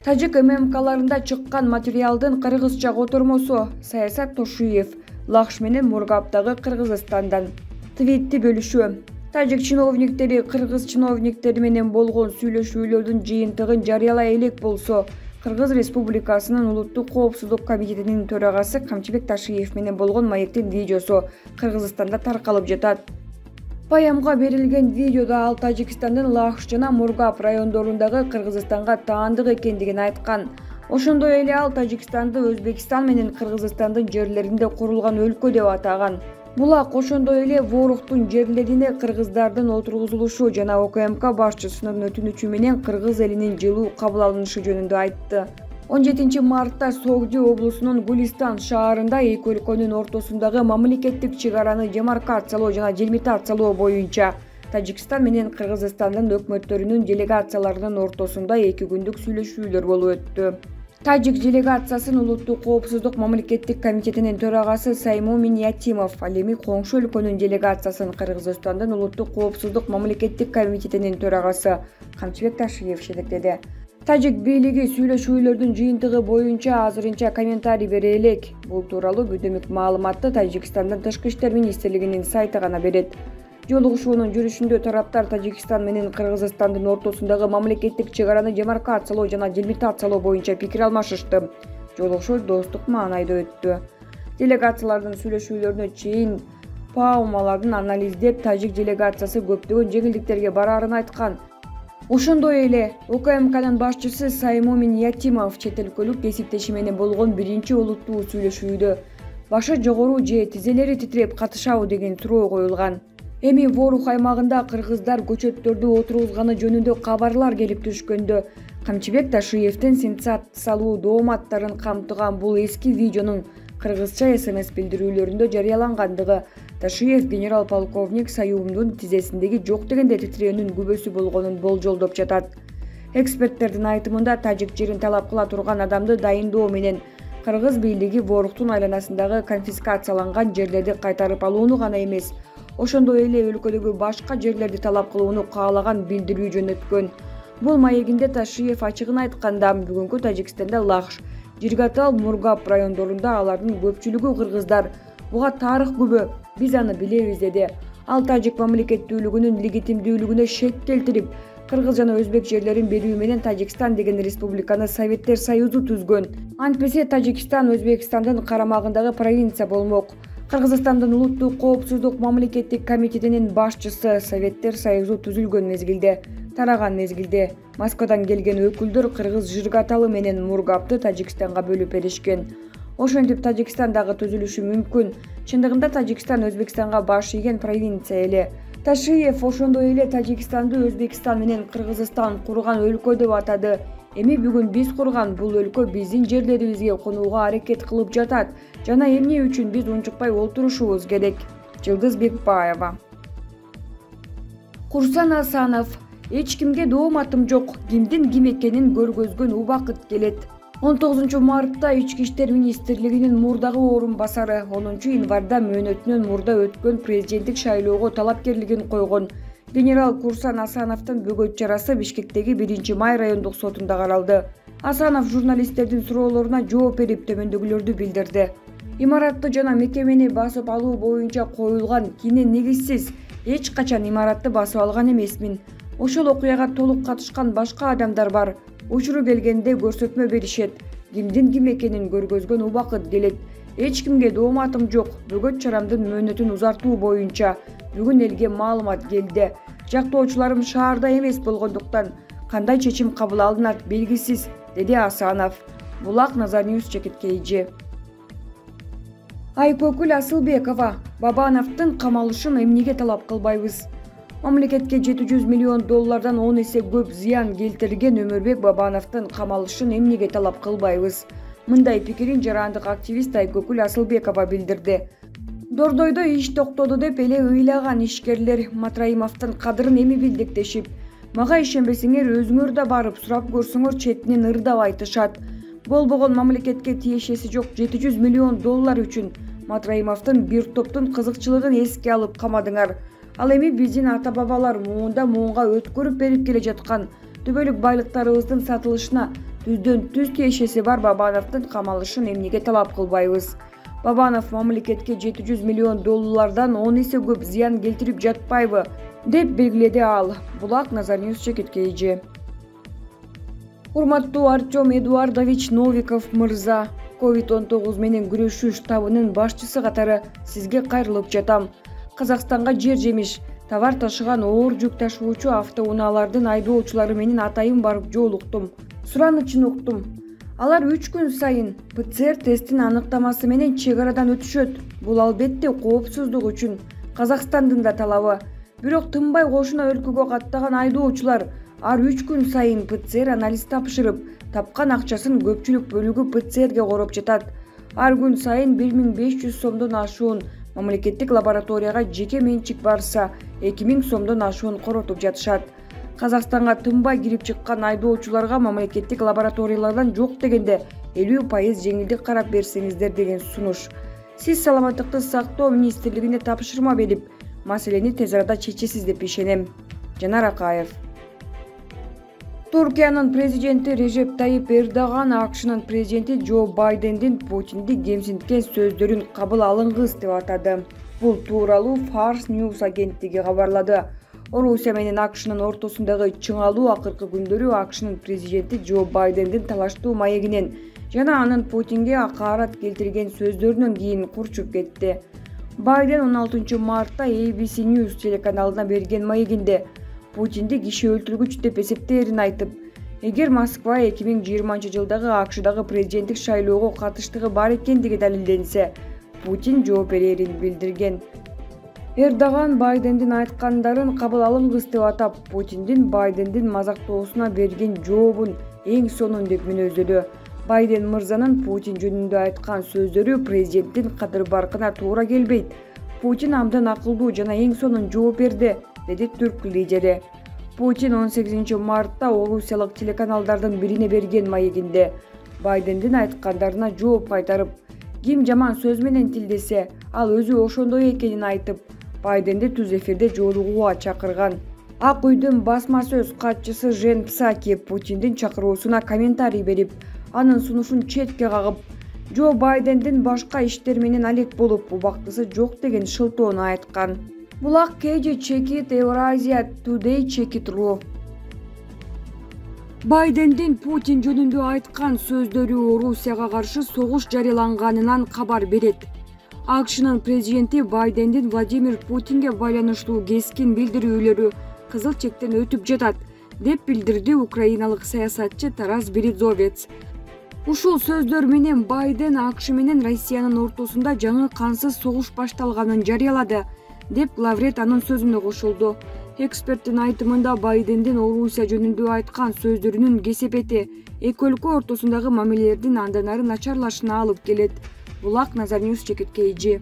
Тажик ММКларында чыккан материалдын кыргызча котормосу. Саясат Тошуев Лахш менен Мургаптагы Кыргызстандан твитти бөлүшүү. Тажик чиновниктери кыргыз чиновниктери менен болгон сүйлөшүүлөрдүн жыйынтыгын жарыялай элек болсо, Кыргыз Республикасынын Улуттук коопсуздук комитетинин төрагасы Камчыбек Ташиев менен болгон маектин видеосу Кыргызстанда таркалып жатат. Баямга берилген видеодо ал Тажикстандын Лахш жана Мургап райондорундагы Кыргызстанга таандык экендигин айткан. Ошондой эле ал Тажикстанды Өзбекстан менен Кыргызстандын жерлеринде курулган өлкө деп атаган. Булак ошондой эле Воруктун жерлерине кыргыздардын отургузулушу жана ОКМК башчысынын өтүнүчү менен кыргыз элинин жылуу кабыл алынышы жөнүндө айтты. 17 мартта Согди облусунун Гулистан шаарында эки өлкөнүн ортосундагы мамлекеттик чек араны демаркациялоо жана делимитациялоо боюнча Тажикстан менен Кыргызстандын өкмөттөрүнүн делегацияларынын ортосунда 2 күндүк сүйлөшүүлөр болуп өттү. Тажик делегациясын Улуттук коопсуздук мамлекеттик комитетинин төрагасы Саймомин Ятимов, ал эми коңшу өлкөнүн делегациясын Кыргызстандын Улуттук коопсуздук мамлекеттик комитетинин төрагасы Камчыбек Ташиев жетектеди. Тажик бийлиги сүйлөшүүлөрдүн жыйынтыгы боюнча азырынча комментарий бере элек. Бул тууралуу бүдүмүк маалыматты Тажикстандын Тышкы иштер министрлигинин сайты гана берет. Жолугушуунун жүрүшүндө тараптар Тажикстан менен Кыргызстандын ортосундагы мамлекеттик чек араны демаркациялоо жана делимитациялоо боюнча пикир алмашышты. Жолугушуу достук маанайда өттү. Делегациялардын сүйлөшүүлөрүнө чейин паумалардын анализдеп, тажик делегациясы көптөгөн жеңилдиктерге бараарын айткан. Ошондой эле ОКМКнын башчысы Саймомин Ятимов чет өлкөлүк кесиптеши менен болгон биринчи олуттуу сүйлөшүүдө башы жогору же тизелери титиреп катышабы деген суроо коюлган. Эми Ворух аймагында кыргыздар көчөттөрдү отургузганы жөнүндө кабарлар келип түшкөндө Камчыбек Ташиевдин сенсациялуу дооматтарын камтыган бул эски видеонун кыргызча СМС билдирүүлөрүндө жарыялангандыгы Ташиев генерал-полковник Саюмдун тизесиндеги жок дегенде титирөөнүн күбөсү болгонун болжолдоп жатат. Эксперттердин айтымында тажик жерин талап кыла турган адамды дайындоо менен кыргыз бийлиги Воруктун айланасындагы конфискацияланган жерлерди кайтарып алууну гана эмес, ошондой эле өлкөдөгү башка жерлерди талап кылууну каалаган билдирүү жөнөткөн. Бул маегинде Ташиев ачыгын айтканда, бүгүнкү Тажикстанда Лахш, Жиргатал, Мургап райондорунда алардын көпчүлүгү кыргыздар. Буга тарых күбө, биз аны билебиз деди. Ал тажик мамлекеттүүлүгүнүн легитимдүүлүгүнө шек келтирип, кыргыз жана өзбек жерлерин берүү менен Тажикстан деген республиканы Советтер Союзу түзгөн. Антпесе Тажикстан Өзбекстандын карамагындагы провинция болмок. Кыргызстандын Улуттук коопсуздук мамлекеттик комитетинин башчысы Советтер Союзу түзүлгөн мезгилде, тараган мезгилде Москвадан келген өкүлдөр кыргыз Жиргаталы менен Мургапты Тажикстанга бөлүп беришкен. Ошентип Тажикстан дагы түзүлүшү мүмкүн. Чындыгында Тажикстан Өзбекстанга баш ийген провинция эле. Ташиев ошондой эле Тажикстанды Өзбекстан менен Кыргызстан курган өлкө деп атады. Эми бүгүн биз курган бул өлкө биздин жерлерибизге конууга аракет кылып жатат жана эмне үчүн биз унчукпай отурушубуз керек. Жылдыз Бекбаева. Курсан Асанов: эч кимге дооматым жок, кимдин ким экенин көргөзгөн убакыт келет. 19 мартта Ички иштер министрлигинин мурдагы орун басары 10 январда мөөнөтүнөн мурда өткөн президенттик шайлоого талапкерлигин койгон генерал Курсан Асановдун бөгөт чарасы Бишкектеги 1-май райондук сотунда каралды. Асанов журналисттердин суроолоруна жооп берип төмөндөгүлөрдү билдирди. Имаратты жана мекемени басып алуу боюнча коюлган кини негизсиз. Эч качан имаратты басып алган эмесмин. Ошол окуяга толук катышкан башка адамдар бар. Учуру келгенде көрсөтмө беришет. Кимдин ким экенин көргөзгөн убакыт келет. Эч кимге дооматым жок. Бөгөт чарамдын мөөнөтүн узартуу боюнча бүгүн элге маалымат келди. Жактоочуларым шаарда эмес болгондуктан кандай чечим кабыл алынат белгисиз, деди Асанов. Булак Назарньюс чекиткейжи. Айкөкүл Асылбекова: Бабановдун камалышын эмнеге талап кылбайбыз? Мамлекетке 700 миллион доллардан 10 эсе көп зыян келтирген Өмүрбек Бабановдун камалышын эмнеге талап кылбайбыз? Мындай пикирин жарандык активист Айкөкүл Асылбекова билдирди. Дордойдо иш токтоду деп эле ыйлаган ишкерлер Матраимовдун кадырын эми билдик дешип, мага ишенбесеңер өзүңөр да барып сурап көрсөңөр четинен ырдап айтышат. Болбогон мамлекетке тиешеси жок 700 миллион доллар үчүн Матраимовдун бир топтун кызыкчылыгын эске алып камадыңар. Ал эми биздин ата-бабалар муунга өткөрүп берип келе жаткан түбөлүк байлыктарыбыздын сатылышына түздөн түз тиешеси бар Бабановдун камалышын эмнеге талап кылбайбыз? Бабанов мамлекетке $700 миллион 10 эсе көп зыян келтирип жатпайбы, деп белгиледи ал. Булак Назарньюс чекиткейи. Урматтуу Артем Эдуардович Новиков мырза, COVID-19 менен күрөшүү штабынын башчысы катары сизге кайрылып жатам. Казакстанга жер жемиш, товар ташыган оор жүк ташуучу автоунаалардын айдоочулары менен атайын барып жолуктум. Суранычын уктум. Алар 3 күн сайын ПЦР тестин аныктамасы менен чек арадан өтүшөт. Бул албетте коопсуздук үчүн Казакстандын да талабы. Бирок тынбай кошуна өлкөгө каттаган айдоочулар ар 3 күн сайын ПЦР анализ тапшырып, тапкан акчасын көпчүлүк бөлүгү ПЦРге короп жатат. Ар күн сайын 1500 сомдон ашуун мамлекеттик лабораторияга жеке менчик барса, 2000 сомдон ашуун коротуп жатышат. Казакстанга тынбай кирип чыккан айдоочуларга мамлекеттик лабораториялардан жок дегенде 50% жеңилдик карап берсеңиздер деген сунуш. Сиз саламаттыкты сактоо министрлигине тапшырма берип, маселени тез арада чечесиз деп ишенем. Жанар Акаев. Туркиянын президенти Режеп Тайип Эрдоган АКШнын президенти Джо Байдендин Путинди кемсинткен сөздөрүн кабыл алынгыс деп атады. Бул тууралуу Fars News агенттиги кабарлады. Орусия менен АКШнын ортосундагы чыңалуу акыркы күндөрү АКШнын президенти Джо Байдендин талаштуу маегинен жана анын Путинге акаарат келтирген сөздөрүнөн кийин курчуп кетти. Байден 16 мартта ABC News телеканалына берген маегинде Путинди киши өлтүргүч деп эсептээрин айтып, эгер Москва 2020 жылдагы АКШдагы президенттик шайлоого катыштыгы бар экендиги далилденсе, Путин жооп берерин билдирген. Эрдоган Байдендин айткандарын кабыл алынгыс деп атап, Путиндин Байдендин мазактоосуна берген жообун эң сонун деп мүнөздөдү. Байден мырзанын Путин жөнүндө айткан сөздөрү президенттин кадыр-баркына туура келбейт. Путин абдан акылдуу жана эң сонун жооп берди, деди түрк лидери. Путин 18 мартта орусиялык телеканалдардын бирине берген маегинде Байдендин айткандарына жооп кайтарып, ким жаман сөз менен тилдесе, ал өзү ошондой экенин айтып, Байденди түз эфирде жолугууга чакырган. Ак үйдүн басма сөз катчысы Жен Псаки Путиндин чакыруусуна комментарий берип, анын сунушун четке кагып, Джо Байдендин башка иштер менен алек болуп, убактысы жок деген шылтоону айткан. Булак KG Check-it Eurasia Today Check-it.ru. Байдендин Путин жөнүндө айткан сөздөрү Орусияга каршы согуш жарыяланганынан кабар берет. АКШнын президенти Байдендин Владимир Путинге байланыштуу кескин билдирүүлөрү кызыл чектен өтүп жатат, деп билдирди украиналык саясатчы Тарас Березовец. Ушул сөздөр менен Байден АКШ менен Россиянын ортосунда жаңы кансыз согуш башталганын жарыялады, деп Лаврет анын сөзүнө кошулду. Эксперттин айтымында Байдендин Орусия жөнүндө айткан сөздөрүнүн кесепети эки өлкө ортосундагы мамилелердин андан ары начарлашына алып келет. Булак Назарньюс чекиткейи.